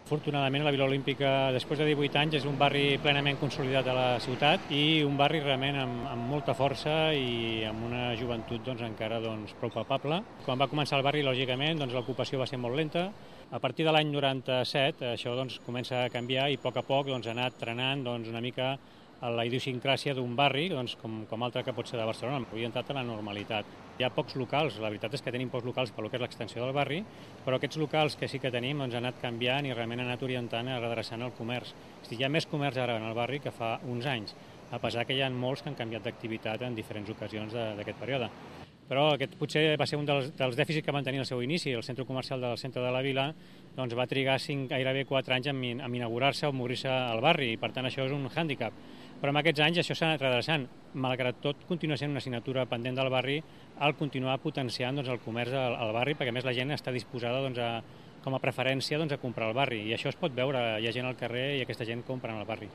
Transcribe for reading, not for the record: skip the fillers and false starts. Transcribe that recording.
Afortunadament, la Vila Olímpica, després de 18 anys, és un barri plenament consolidat a la ciutat i un barri realment amb molta força i amb una joventut encara prou palpable. Quan va començar el barri, lògicament, l'ocupació va ser molt lenta. A partir de l'any 97 això comença a canviar i a poc ha anat trenant una mica la idiosincràsia d'un barri, com altre que pot ser de Barcelona, orientat a la normalitat. Hi ha pocs locals, la veritat és que tenim pocs locals per lo que és l'extensió del barri, però aquests locals que sí que tenim han anat canviant i realment han anat orientant, redreçant el comerç. Hi ha més comerç ara en el barri que fa uns anys, a pesar que hi ha molts que han canviat d'activitat en diferents ocasions d'aquest període. Però aquest potser va ser un dels dèficits que van tenir al seu inici. El centre comercial del centre de la vila va trigar gairebé 4 anys en inaugurar-se o obrir-se al barri, i per tant això és un hàndicap. Però en aquests anys això s'ha anat redreçant. Malgrat tot, continua sent una assignatura pendent del barri al continuar potenciant el comerç al barri, perquè a més la gent està disposada com a preferència a comprar al barri, i això es pot veure, hi ha gent al carrer i aquesta gent compra al barri.